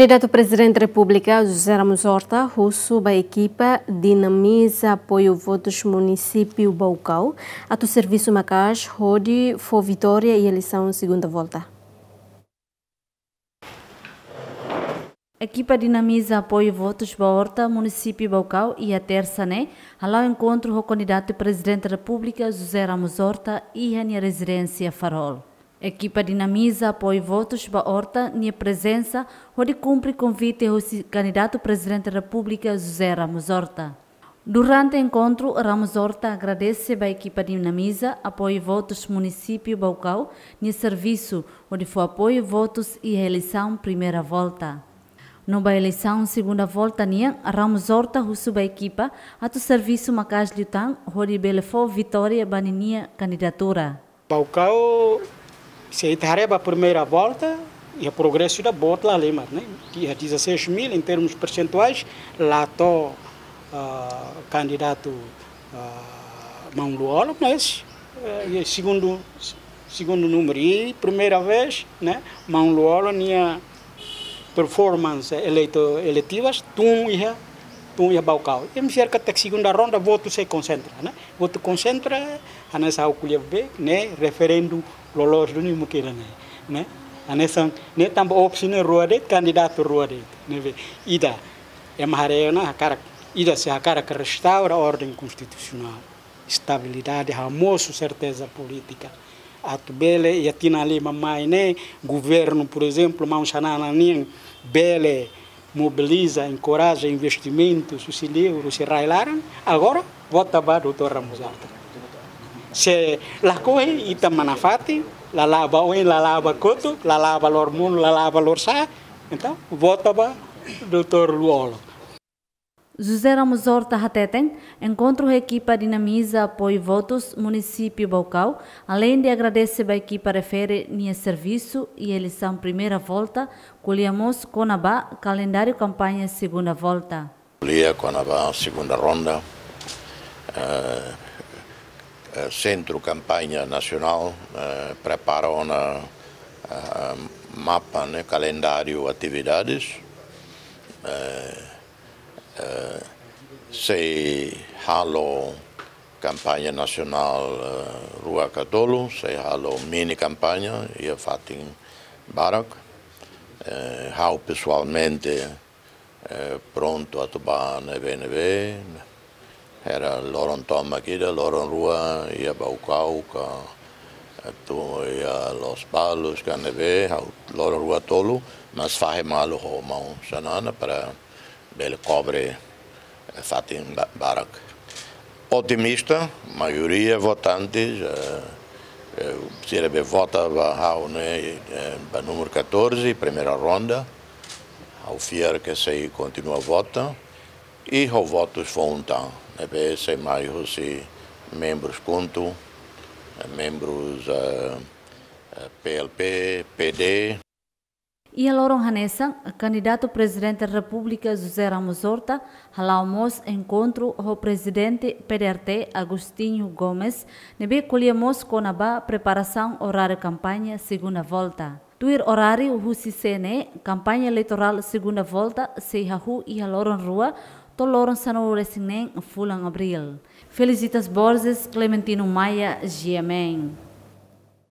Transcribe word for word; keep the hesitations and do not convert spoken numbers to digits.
Kandidatu Prezidente Repúblika José Ramos Horta husu ba ekipa dinamiza apoiu votus munisípiu Baucau atu servisu maka'as hodi fó vitória iha eleisaun segunda volta. Ekipa dinamiza apoiu votus ba Horta munisípiu Baucau iha tersa ne'e hala'o enkontru ho kandidatu Prezidente Repúblika José Ramos Horta iha nia rezidénsia Farol. Ekipa dinamiza apoiu votus ba Horta nia prezensa hodi kumpre konvite husi kandidatu Prezidente Repúblika José Ramos Horta. Durante enkontru, Ramos Horta agradese ba ekipa dinamiza apoiu votus munisípiu Baucau nia servisu hodi fó apoiu votus iha eleisaun primeira volta. No ba eleisaun segunda volta nian, Ramos Horta husu ba ekipa atu servisu maka'as liután hodi bele fó vitória ba ninia kandidatura. Baucau, se ita haree ba primeira volta, iha progresu ida boot la halimar, ne'e? Iha dezasseis mil, em termos percentuais, la to'o, ah, kandidatu, ah, maun Lú-Olo, mas, eh, iha segundu, segundu númeru. I primeira vez, ne'e, maun Lú-Olo nia performance eleito, eleitivas, tun iha, tun iha Baucau. I ema fiar katak segunda ronda votu sei konsentra, ne'e? Votu konsentra, hanesan ha'u ko'alia be, ne'e, referendu loloos duni mukira ne'e, ne'e? Hanesan, ne'e tanba opsaun ne'e rua de'it, kandidatu rua de'it, ne'ebé ida, ema haree ona hakarak, ida sei hakarak restaura orden konstitusionál, estabilidade, hamosu serteza polítika. Atu bele, iha tinan lima mai ne'e, governu, por ezemplu, maun Xanana nian, bele mobiliza, enkoraja investimentus husi liur, husi rai-laran, agora vota ba doutór Ramos Horta. Se lakohi, ita manán fatin, la la'o ba oin, la la'o ba kotuk, la la'o ba loromonu, la la'o ba lorosa'e, entaun vota ba doutór Lú-Olo. José Ramos Horta hateten, enkontru ho ekipa dinamiza apoiu votus munisípiu Baucau, aleinde agradese ba ekipa refere nia servisu iha eleisaun primeira volta, ko'alia mós kona-ba kalendáriu kampaña segunda volta. Ko'alia kona-ba segunda ronda, eh, eh, Sentru Kampaña Nasionál, eh, prepara ona, eh, mapa, ne'e, kalendáriu atividades, eh, eh, sei halo kampaña nasionál, eh, rua ka tolu, sei halo mini kampaña iha fatin barak. Eh, ha'u pesoalmente, eh, prontu atu bá ne'ebé-ne'ebé. Era loron tomak ida, loron rua iha Baucau ka, eh, atu iha Lospalos ka ne'ebé, ha'u loron rua tolu, mas fahe malu ho maun Xanana para bele kobre, eh, fatin ba-, barak. Otimista, maioria votantes, eh, eh, sira be vota ba ha'u ne'e, eh, ba númeru catorze, primeira ronda. Ha'u fiar ke sei kontinua vota. I ho votus foun tan, ne'ebé sei mai husi membrus KHUNTO, eh, membrus, eh, eh, P L P, P D. Iha loron hanesan, kandidatu Prezidente Repúblika José Ramos Horta hala'o mós enkontru ho Prezidente P D R T Agostinho Gomes, ne'ebé ko'alia mós kona-ba preparasaun oráriu kampaña segunda volta. Tuir oráriu husi C N E, kampaña eleitorál segunda volta sei hahú iha loron rua to'o loron sanulu-resin-neen fulan Abríl. Felicitas Borges, Clementino Maia, G M N.